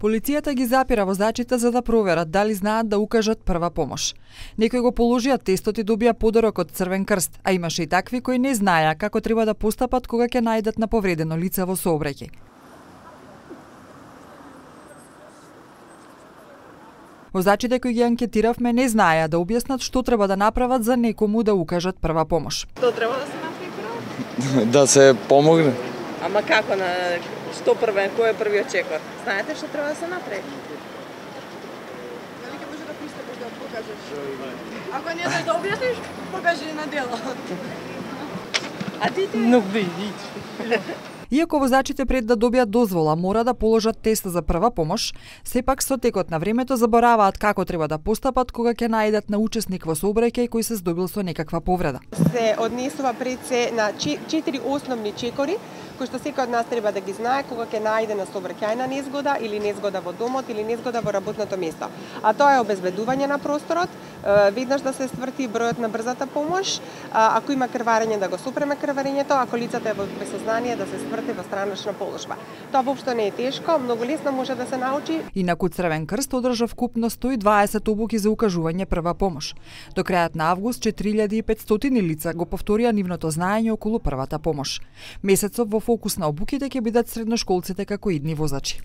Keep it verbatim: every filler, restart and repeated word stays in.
Полицијата ги запира возачите за да проверат дали знаат да укажат прва помош. Некои го положија тестот и добија подарок од Црвен крст, а имаше и такви кои не знаеа како треба да постапат кога ќе најдат на повредено лице во сообраќај. Возачите кои ги анкетиравме не знаеа да објаснат што треба да направат за некому да укажат прва помош. Што треба да се направи? Да се помогне. Ама како на што првен, кој е првиот чекор? Знаете што треба да се направи? Дали ќе може да пристапиш да покажеш? Ако не знаеш да објасниш, покажи на дело. А ти ти? Многу да идиш. Иако возачите пред да добијат дозвола мора да положат тест за прва помош, сепак со текот на времето забораваат како треба да постапат кога ќе најдат на учесник во сообраќај кој се здобил со некаква повреда. Се однесува пред се на четири основни чекори, кои што секој од нас треба да ги знае кога ќе најде на сообраќајна незгода или незгода во домот или незгода во работното место. А тоа е обезбедување на просторот, веднаш да се стврти бројот на брзата помош, ако има крварење да го супреме крварењето, ако лицето е во безсознание да се стврти во странична положба. Тоа воопшто не е тешко, многу лесно може да се научи. Инаку Црвен крст одржа вкупно сто и дваесет обуки за укажување прва помош. До крајот на август четири илјади и петстотини лица го повторија нивното знаење околу првата помош. Месецов во фокус на обуките ќе бидат средношколците како идни возачи.